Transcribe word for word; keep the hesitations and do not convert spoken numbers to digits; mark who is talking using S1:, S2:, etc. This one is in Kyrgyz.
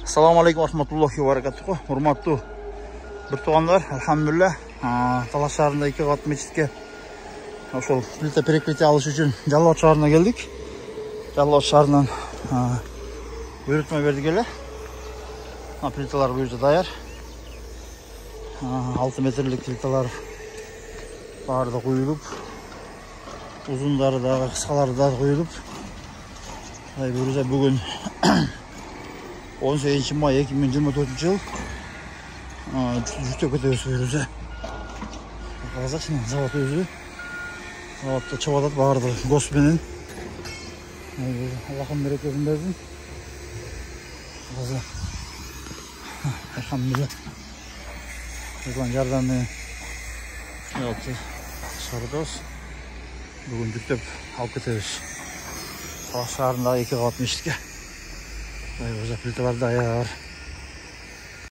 S1: Assalamu alaikum rahmatullohi wa barakatuh. Hurmatlı bir tuğanlar, elhamdülillah. Талас шаарында эки кат мечитке ошол плита перекрытие алыш үчүн Жалал Абад шаарына келдик. Жалал Абад шаарынан буйрутма бердик эле. Плиталар бул жерде даяр. алты метрлик плиталар баары да куюлуп, узундары дагы, кыскалары да куюлуп. Бул жерде бүгүн он сегизинчи май эки миң жыйырма төртүнчү жыл жүктөп кетебиз бул жерде. Казачын завод өзү. Заводто чыгып атат баардыгы гос менен. Аллахым берекесин берсин. Азыр элхамдулилlah. Өзүнүн жардамы менен ушундай чыгарабыз. Бүгүн жүктөп алып кетебиз. Талас шаарындагы эки кабат мечитке. Өзү плиталар даяр.